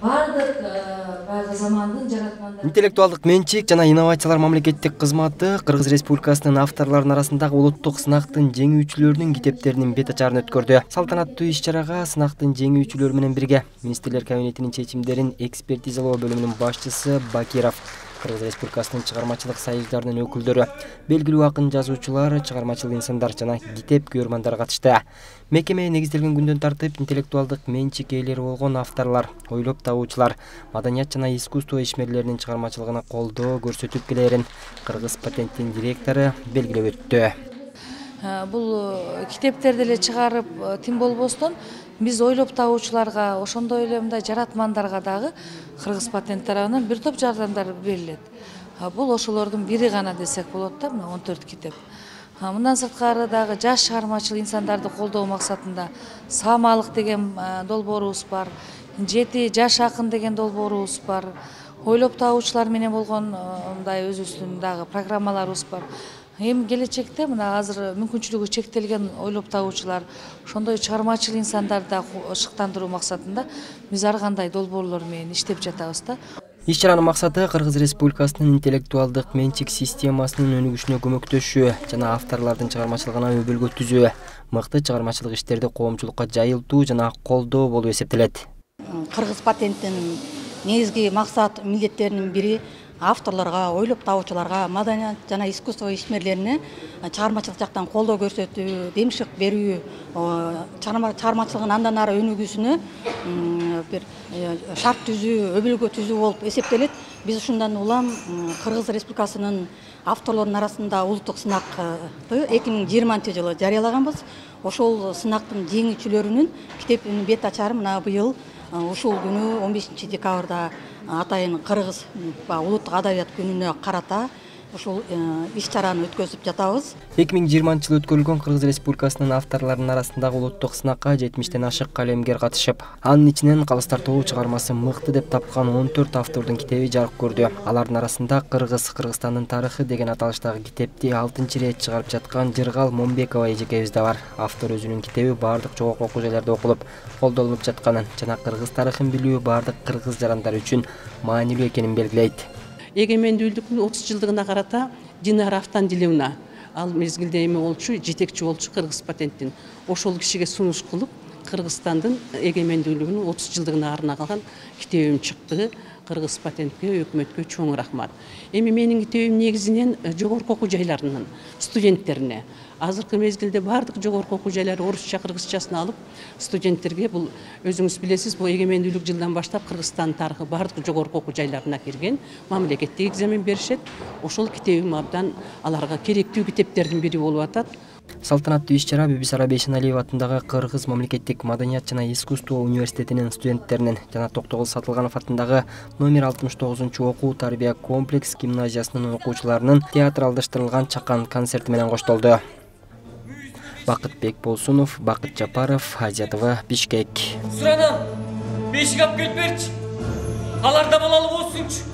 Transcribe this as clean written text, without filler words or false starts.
бардык баягы замандын жаратмандары. Интеллектуалдык менчик жана инновациялар мамлекеттик кызматы Кыргыз Республикасынын авторлорунун арасындагы улуттук сынактын жеңүүчүлөрүнүн китептеринин бет ачарын өткөрдү. Салтанаттуу иш-чарага сынактын жеңүүчүлөрү менен бирге Министрлер кабинетинин чечимдерин экспертизалоо бөлүмүнүн башчысы Бакиров, Кыргыз Республикасынын чыгармачылык союздарынын өкүлдөрү, белгилүү акын жазуучулар, чыгармачыл инсандар жана китеп көрмандар катышты. Мекеме негизделген күндөн тартып интеллектуалдык менчик ээлери болгон авторлор, ойлоп табуучулар, маданият жана искусство ишмерлеринин чыгармачылыгына колдоо көрсөтүп келерин Кыргыз патенттин директору белгилеп өттү. Бул китептерди эле чыгарып тим болбостон биз ойлоп табуучуларга, ошондой эле мындай жаратмандарга дагы Кыргыз патент тарабынан бир топ жардамдар берилет. Бул ошолордун бири гана десек болот да, мына 14 китеп. Мындан сырткары дагы жаш чыгармачыл инсандарды колдоо максатында Самалык деген долбоорубуз бар, 7 жаш акын деген долбоорубуз бар, ойлоп табуучулар менен болгон мындай өзүбүздүн дагы программаларыбыз бар. Эми келечекте мына азыр мүмкүнчүлүгү чектелген ойлоп табуучулар, ошондой чыгармачыл инсандарды шыктандыруу максатында биз ар кандай долбоорлор менен иштеп жатабыз да. Иш-чаранын максаты Кыргыз Республикасынын интеллектуалдык менчик системасынын өнүгүшүнө көмөктөшүү жана авторлордун чыгармачылыгына өбөлгө түзүү, мыкты чыгармачылык иштерди коомчулукка жайылтуу жана колдоо болуп эсептелет. Кыргыз патенттин негизги максат милдеттеринин бири авторлорго, ойлоп табуучуларга, маданият жана искусство ишмерлерине чыгармачылык жактан колдоо көрсөтүү, демшик берүү, чыгармачылыгын андан ары өнүгүүсүнө бир шарт түзүү, өбөлгө түзүү болуп эсептелет. Биз ушундан улам Кыргыз Республикасынын авторлорунун арасында улуттук сынакты 2020-жылы жарыялаганбыз. Ошол сынактын жеңүүчүлөрүнүн китебинин бет ачары мына быйыл ушул күнү 15 декабрда атайын Кыргыз улуттук адабият күнүнө карата ушул иш-чараны өткөзүп жатабыз. 2020-жылы өткөрүлгөн Кыргыз Республикасынын авторлорунун арасындагы улуттук сынакка 70тен ашык калемгер катышып, анын ичинен Калыс тартуу чыгармасы мыкты деп тапкан 14 автордун китеби жарык көрдү. Алардын арасында Кыргызстандын тарыхы деген аталыштагы китепти 6-чы ирет чыгарып жаткан Жыргал Момбекова эжекебиз да бар. Автор өзүнүн китеби бардык жогорку окуу жайларда окулуп, колдонулуп жатканын жана кыргыз тарыхын билүү бардык кыргыз жарандары үчүн маанилүү экенин белгилейт. Эгемендүүлүктүн 30 жылдыгына карата Динара Автандилевна ал мезгилде эми болчу, жетекчи болчу Кыргыз патенттин. Ошол кишиге сунуш кылып, Кыргызстандын эгемендүүлүгүнүн 30 жылдыгына арналган китебим чыкты. Кыргыз патентке, өкмөткө чоң рахмат. Эми менин китебим негизинен жогорку окуу жайларынын студенттерине. Азыркы мезгилде бардык жогорку окуу жайлары орусча, кыргызчасын алып, студенттерге бул өзүңүз билесиз, бул эгемендүүлүк жылдан баштап Кыргызстан тарыхы бардык жогорку окуу жайларына кирген, мамлекеттик экзамен беришет. Ошол китебим абдан аларга керектүү китептердин бири болуп атат. Салтанаттуу иш-чара Бибисара Бейшеналиева атындагы Кыргыз мамлекеттик маданият жана искусство университетинин студенттеринин жана Токтогул Сатылганов атындагы номер 69-чу окуу тарбия комплекс гимназиясынын окуучуларынын театралдаштырылган чакан концерти менен коштолду. Бакытбек Болсунов, Бакыт Жапаров, Азия ТВ, Бишкек. Суранам, бешик алып келип берчи. Аларда балалы болсунчу.